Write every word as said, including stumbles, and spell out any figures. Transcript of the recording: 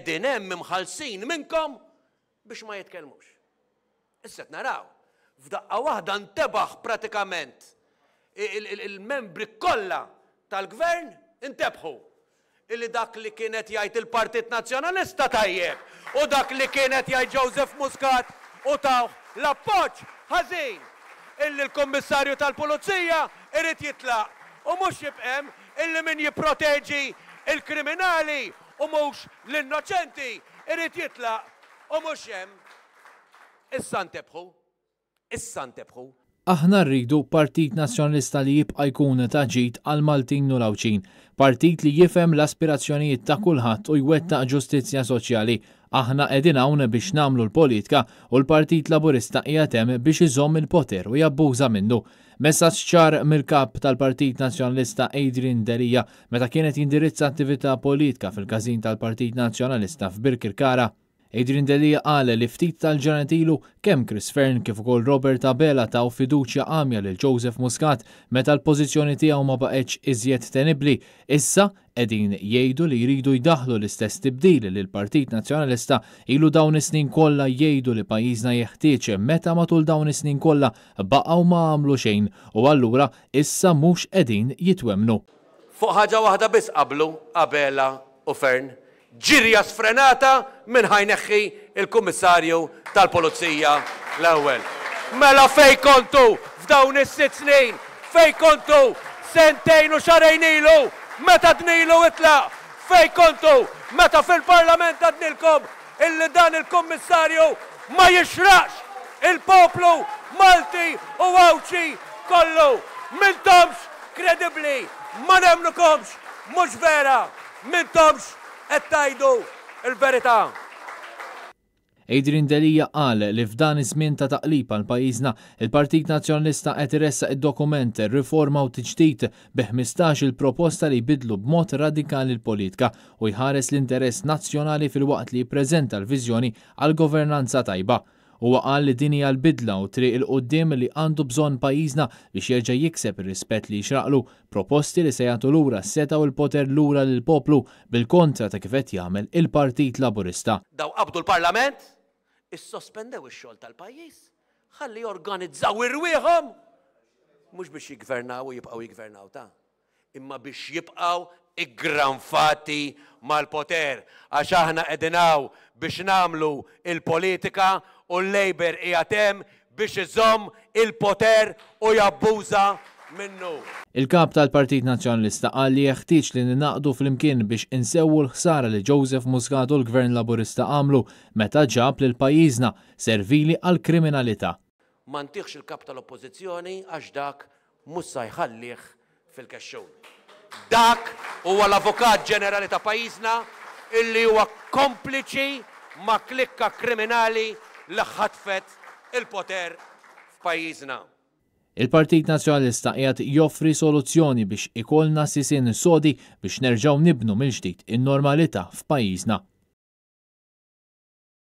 Qegħdin hemm imħallsin minnkom biex ma jitkellmux. Issa naraw, f'daqqa waħda ntebaħ pratikament il-membri kollha tal-gvern intebħu illi dak li kienet jgħid il-Partit Nazzjonalista tajjeb u dak li kienet jgħid Joseph Muscat u tawh l-appoġġ ħażin, illi l-Kummissarju tal-Pulizija irid jitlaq u mhux jibqa' hemm, illi min jipproteġi il-kriminali u mhux l-innoċenti irid jitlaq u mhux hemm. Issa ntebħu. Issa ntebħu. Aħna rridu Partit Nazzjonalista li jibqa' jkun ta' ġid għal Maltin u l-Għawdxin, partit li jifhem l-aspirazzjonijiet ta' kulħadd u jwettaq ġustizzja soċjali. Aħna qegħdin hawn biex nagħmlu l-politika u l-Partit Laburista qiegħed hemm biex iżomm il-poter u jabbuża minnu. Messaġġ ċar mill-kap tal-Partit Nazzjonalista Adrian Delia meta kienet jindirizza attività politika fil-każin tal-Partit Nazzjonalista f'Birkirkara. Adrian Delia qal li ftit tal-ġranet ilu kemm Chris Fearne kif ukoll Robert Abela taw fiduċja għamja lil Joseph Muscat meta l-pożizzjoni tiegħu ma baqgħetx iżjed tenibbli. Issa qegħdin jgħidu li jridu jdaħlu l-istess tibdil li l-Partit Nazzjonalista ilu dawn is-snin kollha jgħidu li pajjiżna jeħtieġ, meta matul dawn is-snin kollha baqgħu ma għamlu xejn u allura issa mhux qegħdin jitwemmnu. Fuq ħaġa waħda biss qablu Abela u Fearne, ġirja sfrenata minn ħa jneħħi il-Kummissarju tal-Pulizija l-ewwel. Mela fej kontu f'dawn is-sitt snin? Fej kontu sentejn u xahrejn ilu meta għednilu itlaq? Fej kontu meta fil-Parlament għednilkom illi dan il-Kummissarju ma jixraqx il-poplu Malti u Għawdxi kollu? M'intomx kredibbli, ma nemmnukomx, mhux vera, m'intomx qed tgħidu l-verità. Adrian Delia qal li f'dan iż-żmien ta' taqlib għal pajjiżna, il-Partit Nazzjonalista qed iressaq id-dokument Riforma u Tiġdid bi ħmistax il proposta li jbidlu b'mod radikali l-politika u jħares l-interess nazzjonali filwaqt li jippreżenta l-viżjoni għal governanza tajba. Huwa qal li din hija l-bidla u triq 'il quddiem li għandu bżonn pajjiżna biex jerġa' jikseb ir-rispett li jixraqlu, proposti li se jagħtu lura s-setgħa u l-poter lura lill-poplu bil-kontra ta' kif qed jagħmel il-Partit Laburista. Daw qabdu l-Parlament, issospendew ix-xogħol tal-pajjiż, ħalli jorganizzaw irwieħhom mhux biex jiggvernaw u jibqgħu jiggvernaw ta', imma biex jibqgħu iggranfati mal-poter, għax aħna qegħdin hawn biex nagħmlu il-politika u l-Labour qiegħed hemm biex iżomm il-poter u jabbuża minnu. Il-kap tal-Partit Nazzjonalista qal li jeħtieġ li ninaqdu flimkien biex insewwu l-ħsara li Joseph Muscat u l-Gvern Laburista għamlu meta ġab lil pajjiżna servili għall-kriminalità. Ma ntihx il-kap tal-Oppożizzjoni għax dak mhux sa jħallih fil-kexxun. Dak huwa l-Avukat Ġenerali ta' pajjiżna illi huwa kompliċi ma' klikka kriminali li ħatfet il-poter f'pajjiżna. Il-Partit Nazzjonalista qiegħed joffri soluzzjoni biex ikollna sisien sodi biex nerġgħu nibnu mill-ġdid in-normalità f'pajjiżna.